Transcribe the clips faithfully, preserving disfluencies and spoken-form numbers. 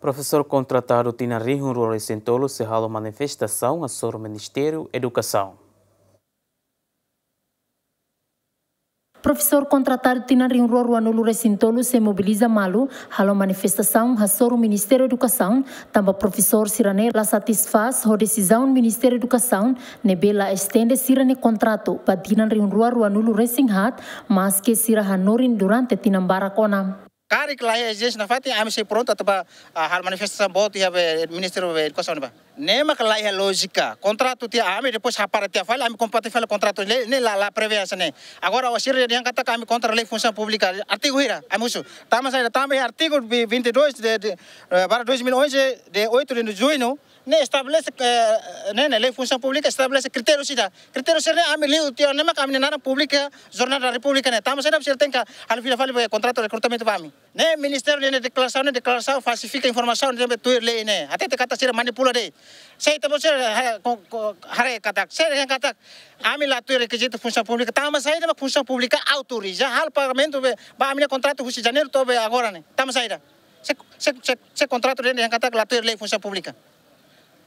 Profesór kontratadu tinan rihun rua resin tolu sei halo manifestasaun hasoru Ministériu Edukasaun. Profesór kontratadu tinan rihun rua rua nulu resin tolu sei mobiliza malu, halo manifestasaun hasoru Ministériu Edukasaun, tanba profesór sira-ne'e la satisfás ho desizaun Ministériu Edukasaun ne'ebé la estende sira-nia kontratu ba tinan rihun rua rua nulu resin haat, maske sira hanorin durante tinan barak ona. Karik la iha ezijénsia nafatin, ami sei prontu atu ba, ah, halo manifestasaun boot iha be Ministériu be Edukasaun ne'ebá. Ne'e mak la iha lójika. Kontratu tiha ami, depois hapara tiha fali, ami kompati fali kontratu ne'e, ne'e la, la prevee hanesan ne'e. Agora, o sira dehan katak ami kontra lei funsaun públika, artigu hira, ami husu. Tanba saida, tanba iha artigu vi-, vinte e dois de, de, eh, barra dois mil e onze, de oito de junho, ne'e estabelese, eh, ne'e, ne'e, lei funsaun públika estabelese kritériu sira. Kritériu sira-ne'e ami liu tiha ona, ne'e mak ami-nia naran publika iha Jornál da Repúblika ne'e. Tanba saida sira tenke halo fila fali be kontratu rekrutamentu ba ami. Ne'e Ministériu nia deklarasaun, ne'e deklarasaun falsifika informasaun, ne'ebé tuir lei ne'e. Hatete katak sira manipula de'it. Sei ita-boot sira, ha, ko, ko, haree katak, sira dehan katak ami la tuir rekizitu funsaun públika. Tanba saida mak funsaun públika autoriza halo pagamentu be, ba ami-nia kontratu husi Janeiru to'o be agora ne'e. Tanba saida. Se, se, se, se kontratu dehan katak la tuir lei funsaun públika.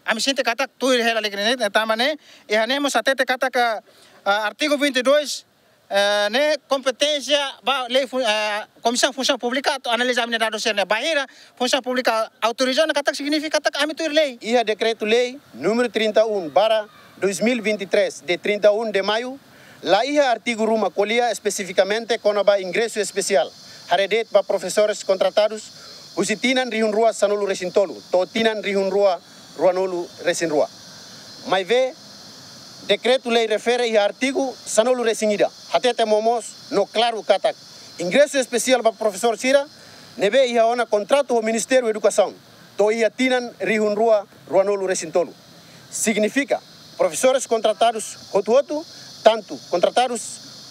Ami sente katak tuir hela lei ne'e, tanba ne'e, iha ne'e mós hatete katak, ah, artigu vinte e dois, eh, ne'e kompeténsia ba lei fun-, eh, Komisaun Funsaun Públika atu analiza ami-nia dadus sira-ne'e. Bainhira Funsaun Públika autoriza ona katak signifika katak ami tuir lei. Iha dekretu-lei número trinta e um barra dois mil e vinte e três, de trinta e um de maio, la iha artigu ruma ko'alia espesifikamente kona-ba ingresu espesiál haree de'it ba profesores kontratadus husi tinan rihun rua sanulu resin tolu to'o tinan rihun rua rua nulu resin rua. Maibé, dekretu-lei refere iha artigu sanulu resin ida, hatete momoos no klaru katak ingresu espesiál ba profesór sira ne'ebé iha ona kontratu ho Ministériu Edukasaun to'o iha tinan rihun rua rua nulu resin tolu. Signifika, profesores kontratadus hotu-hotu, tantu kontratadus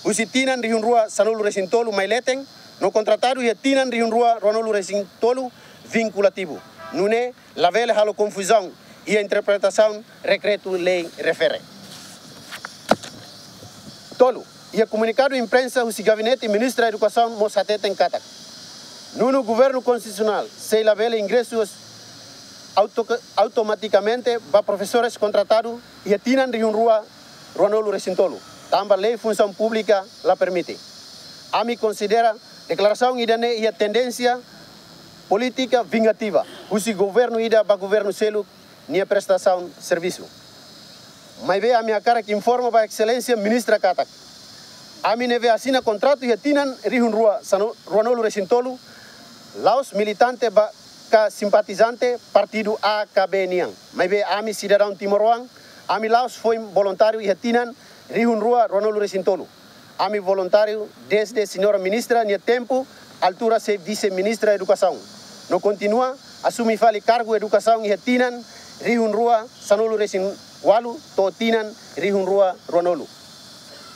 husi tinan rihun rua sanulu resin tolu mai leten, no kontratadu iha tinan rihun rua rua nulu resin tolu vinkulativu. Nune'e labele halo konfuzaun iha interpretasaun dekretu-lei refere. Tolu, iha komunikadu imprensa husi Gabinete Ministra Edukasaun mós hateten katak nonu Governu Konstitusionál sei labele ingresu auto-, automatikamente ba profesores kontratadu iha tinan rihun rua rua nulu resin tolu, tanba lei funsaun públika la permite. Ami konsidera deklarasaun ida-ne'e iha tendénsia polítika vingativa husi governu ida ba governu seluk nia prestasaun servisu. Maibé ami hakarak informa ba Exelénsia Ministra katak ami ne'ebé asina kontratu iha tinan rihun rua sanu-, rua nulu resin tolu, la'ós militante ba ka simpatizante partidu A ka B nian. Maibé ami sidadaun timoroan, ami la'ós foin voluntáriu iha tinan rihun rua rua nulu resin tolu. Ami voluntáriu dezde Señora Ministra nia tempu, altura sei Vise-Ministra Edukasaun. No kontinua asume fali kargu edukasaun iha tinan rihun rua sanulu resin ualu to'o tinan rihun rua rua nulu.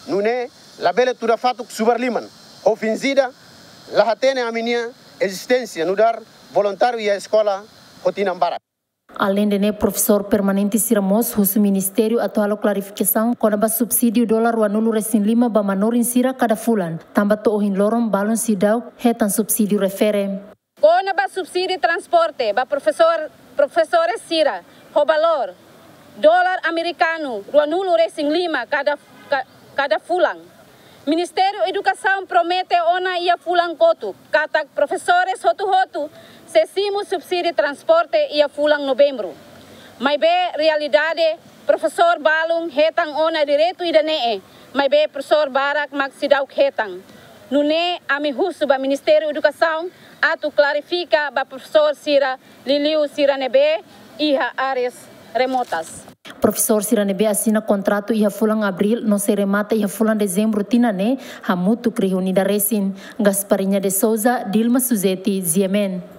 Nune'e labele tuda fatuk subar liman, ho finjida la hatene ami-nia ezisténsia nu'udar voluntáriu iha eskola ho tinan barak. Aleinde ne'e, profesór permanente sira mós husu ministériu atu halo klarifikasaun kona-ba subsídiu dolar rua nulu resin lima ba manorin sira kada fulan, tanba to'o ohin loron balun seidauk hetan subsídiu refere. Kona-ba subsídiu transporte ba profesór, profesores sira ho valór dolar amerikanu rua nulu resin lima kada, ka-, kada fulan. Ministériu Edukasaun promete ona iha fulan kotuk katak profesores hotu-hotu sei simu subsídiu transporte iha fulan Novembru. Maibé realidade, profesór balun hetan ona direitu ida-ne'e, maibé profesór barak mak seidauk hetan. Nune'e ami husu ba Ministériu Edukasaun atu klarifika ba profesór sira, liuliu sira ne'ebé iha áreas remotas. Profesór sira ne'ebé asina kontratu iha fulan Abríl no sei remata iha fulan Dezembru tinan ne'e, hamutuk rihun ida resin. Gasparinha de Souza, Dilma Suzeti, G M N.